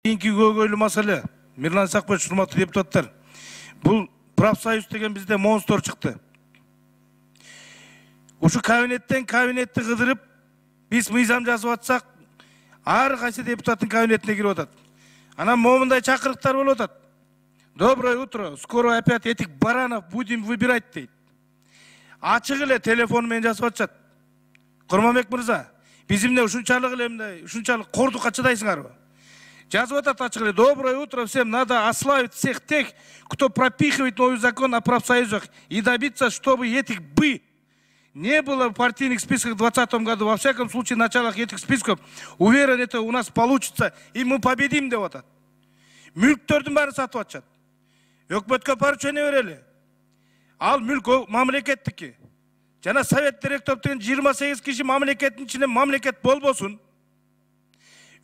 Кийинки көйгөйлүү маселе, Мирлан Исакбаевич, урматтуу депутаттар, бул профсоюз деген бизде монстр чыкты. Ушу кабинеттен кабинетти кыдырып, биз мыйзам жазып атсак, ар кайсы депутаттын кабинетине кирип атат. Анан момундай чакырыктар болуп атат. Доброе утро, скоро опять этих баранов будем выбирать дейт. Ачык эле телефон менен жазып атышат. Курманбек мырза, биз эмне ушунчалык эле мындай, ушунчалык кордукка чыдайсыңарбы? Жазып атат ачык эле. Доброе утро всем, надо ославить всех тех, кто пропихивает новый закон о профсоюзах и добиться, чтобы этих бы не было в партийных списках в 2020 году. Во всяком случае, в началах этих списков, уверен, это у нас получится, и мы победим деп атат. Мүлктөрдүн баарын сатып атышат. Өкмөткө поручение берели. Ал мүлк мамлекеттики. Жана совет директору деген 28 киши мамлекеттин ичинде мамлекет болбосун.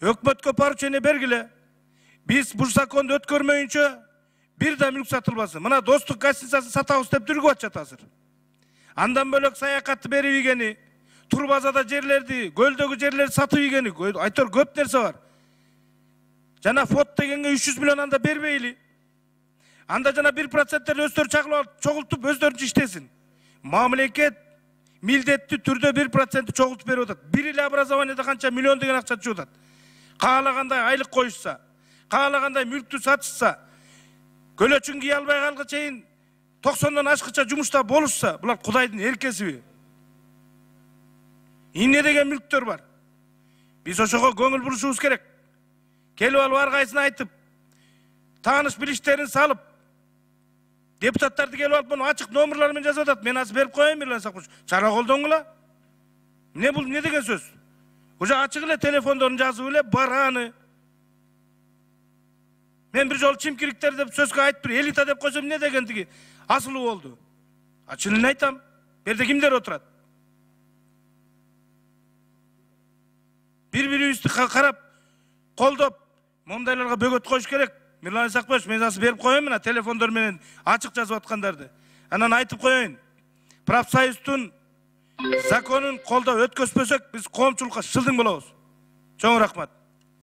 Өкмөткө поручение бергиле. Биз бул законду өткөрмөйүнчө бир да мүлк сатылбасын. Мына достук гостиницасын сатабыз деп дүргүп атышат азыр. Андан бөлөк саякатты берип ийгени, Турбазада жерлерди, көлдөгү жерлерди сатып ийгени, айтор көп нерсе бар. Жана фот дегенге 300 миллион анда бербейли. Анда жана 1%-тер өздөрү чогултуп өздөрүнчө иштесин. Мамлекет милдеттүү түрдө 1% чогултуп берип атат. Бир эле образованияда канча миллион деген акча түшүп атат. Каалагандай айлык коюшса, каалагандай мүлктү сатышса, көлөчүн кие албай калгыга чейин 90-дан ашкыча жумушта болушса, булар Кудайдын эркесиби? Эмне деген мүлктөр бар? Биз ошого көңүл бурушубуз керек. Келип алып ар кайсына айтып, тааныш билиштерин салып, депутаттарды келип алып, муну ачык номерлар менен жазып атат. Мен азыр берип коеюн, Мирлан Исакбаевич. Чара колдоңула. Эмне бул, эмне деген сөз? Уже ачык эле телефондорун жазып эле бараны. Мен бир жолу чимкириктер деп сөзгө айтып, элита деп койсом эмне дегендиги асылуу болду. Чынын айтам. Берде кимдер отурат? Бири-бирибизди карап, колдоп, мондайларга бөгөт коюш керек. Мирлан Исакбаевич, мен азыр берип коеюн мына телефондор менен ачык жазып аткандарды. Анан айтып коеюн. Профсоюздун законун колдоп өткөзбөсөк, биз коомчулукка шылдың болобуз. Чоң рахмат.